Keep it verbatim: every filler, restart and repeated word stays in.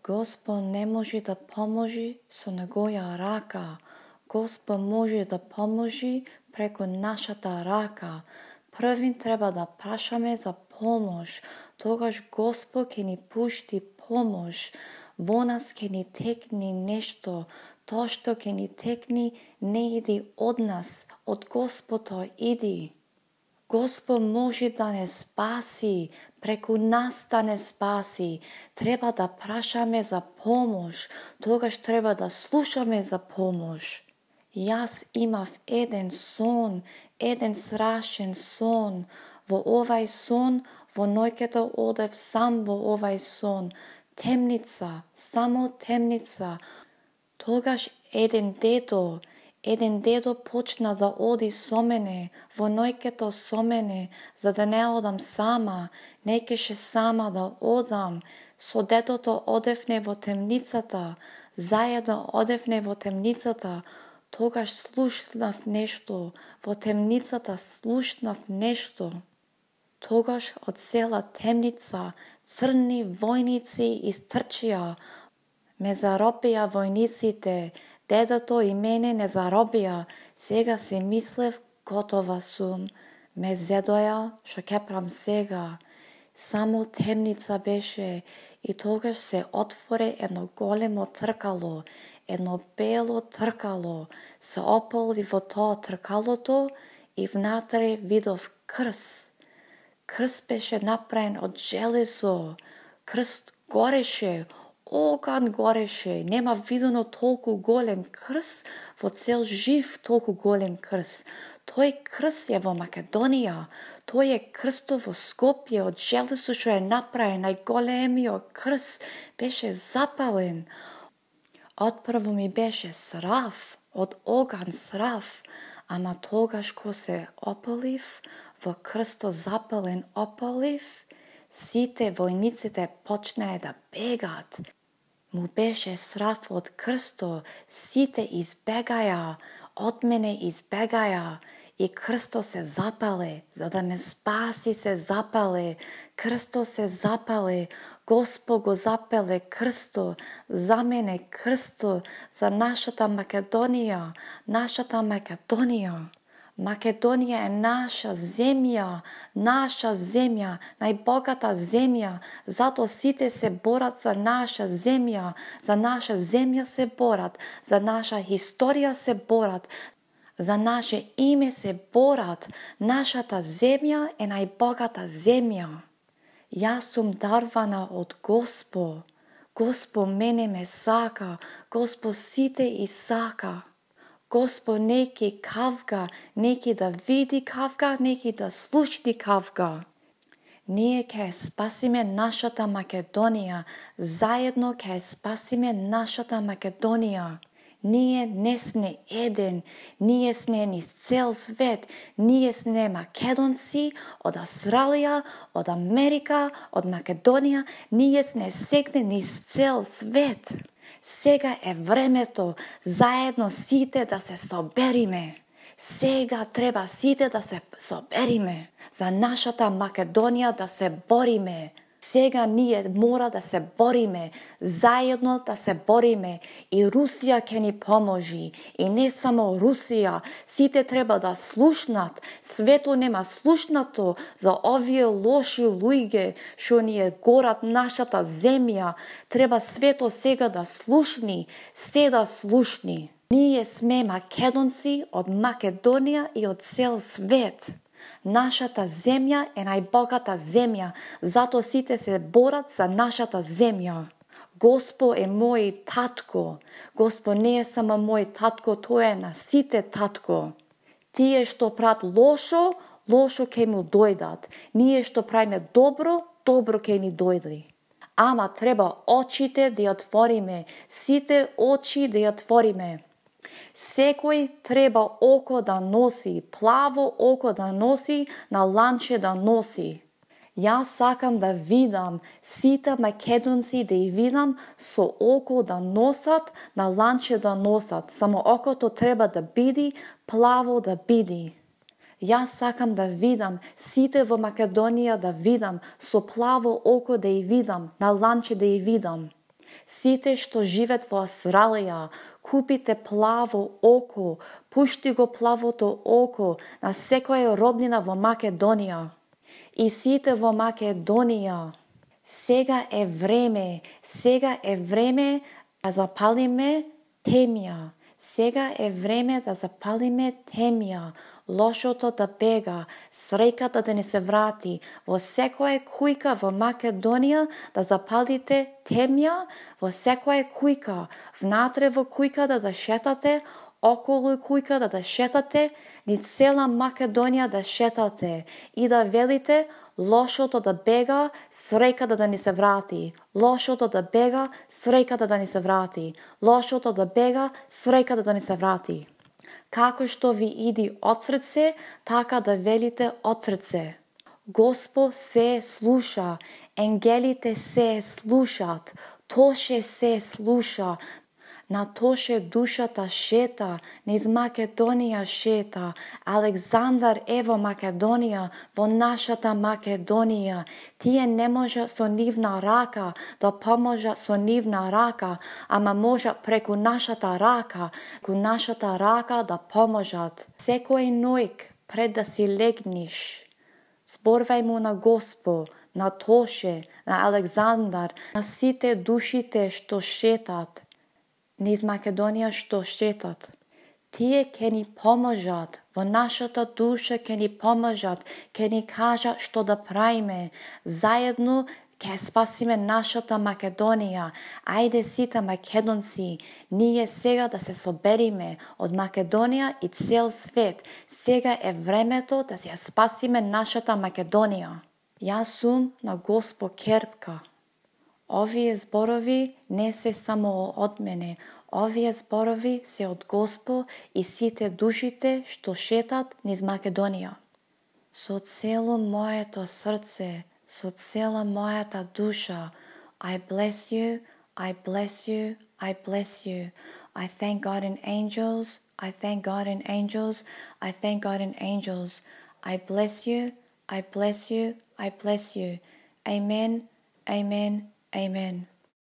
Господ не може да поможи со негоја рака. Господ може да поможи преку нашата рака. Првин треба да прашаме за помош. Тогаш Господ ќе ни пушти помош. Во нас ќе ни текни нешто. Тоа што ќе ни текни не иди од нас, од Господ иди. Господ може да не спаси, преку нас да не спаси. Треба да прашаме за помош, тогаш треба да слушаме за помош. Јас имав еден сон, еден страшен сон. Во овај сон, во ноќето одев сам во овај сон. Темница, само темница. Тогаш еден дедо, еден дедо почна да оди со мене, во ноќето со мене, за да не одам сама, не кеше сама да одам. Со дедото одевне во темницата, заедно одевне во темницата. Тогаш слушнав нешто, во темницата слушнав нешто. Тогаш од цела темница црни војници истрчија. Ме заробија војниците, дедото и мене не заробија. Сега си мислев, готова сум. Ме зедоја, што ќе правам сега. Само темница беше и тогаш се отвори едно големо тркало, едно бело тркало. Се ополи во тоа тркалото и внатре видов крст. Крст беше направен од железо. Крст гореше, оган гореше. Нема видено толку голем крст, во цел жив толку голем крст. Тој крст е во Македонија. Тој е крстот во Скопје од железо што е направен. Најголемиот крст беше запален. Отпрво ми беше срав, од оган срав, ама тогаш ко се опалив, во крстот запален опалив, сите војниците почнаа да бегат. Му беше срав од крстот, сите избегаја, од мене избегаја. И крстот се запале, за да ме спаси се запале. Крстот се запале, Господ го запале крстот, за мене крстот, за нашата Македонија, нашата Македонија. Македонија е наша земја, наша земја, најбогата земја. Зато сите се борат за наша земја, за наша земја се борат, за наша историја се борат, за наше име се борат. Нашата земја е најбогата земја. Јас сум дарвана од Господ. Господ мене ме сака, Господ сите и сака. Господ неки кавга, неки да види кавга, неки да слушни кавга. Ние ќе спасиме нашата Македонија, заедно ќе спасиме нашата Македонија. Ние не сме еден, ние сме низ цел свет, ние сме македонци од Австралија, од Америка, од Македонија, ние сме сегне низ цел свет. Сега е времето заедно сите да се собериме. Сега треба сите да се собериме. За нашата Македонија да се бориме. Сега ние мора да се бориме, заедно да се бориме. И Русија ќе ни поможи. И не само Русија, сите треба да слушнат. Свето нема слушнато за овие лоши луѓе што ни е горат нашата земја. Треба свето сега да слушни, се да слушни. Ние сме македонци од Македонија и од цел свет. Нашата земја е најбогата земја, зато сите се борат за нашата земја. Господ е мој татко. Господ не е само мој татко, тој е на сите татко. Тие што прават лошо, лошо ќе му дојдат. Ние што правиме добро, добро ќе ни дојде. Ама треба очите да ја отвориме, сите очи да ја отвориме. Секој треба око да носи, плаво око да носи, на ланче да носи. Јас сакам да видам сите македонци да ја видам со око да носат, на ланче да носат. Само окото треба да биде, плаво да биде. Јас сакам да видам сите во Македонија да видам со плаво око да ја видам, на ланче да ја видам. Сите што живеат во Австралија, купите плаво око, пушти го плавото око на секоја роднина во Македонија. И сите во Македонија, сега е време, сега е време да запалиме темја. Сега е време да запалиме темја. Лошото да бега, среќата да не се врати. Во секоја кујка во Македонија да запалите темја, во секоја кујка, внатре во кујката да шетате, околу кујката да шетате, низ цела Македонија да шетате и да велите лошото да бега, среќата да ни се врати. Лошото да бега, среќата да ни се врати. Лошото да бега, среќата да ни се врати. Како што ви иди од срце, така да велите од срце. Господ се слуша, енгелите се слушат, Тоше се слуша, на Тоше душата шета, низ Македонија шета. Александар е во Македонија, во нашата Македонија. Тие не може со нивна рака да поможа со нивна рака, ама може преку нашата рака, преку нашата рака да поможат. Секој ноќ пред да си легниш, зборвај му на Господ, на Тоше, на Александар, на сите душите што шетат низ Македонија што шетат. Тие ќе ни поможат, во нашата душа ќе ни поможат, ќе ни кажат што да правиме. Заедно ќе спасиме нашата Македонија. Ајде сите македонци, ние сега да се собериме од Македонија и цел свет. Сега е времето да се спасиме нашата Македонија. Јас сум на Господ Керпка. Овие зборови не се само од мене, овие зборови се од Господ и сите душите што шетат низ Македонија. Со цело моето срце, со цела мојата душа, I bless you, I bless you, I bless you. I thank God in angels, I thank God in angels, I thank God in angels. I bless you, I bless you, I bless you. Amen, amen, amen.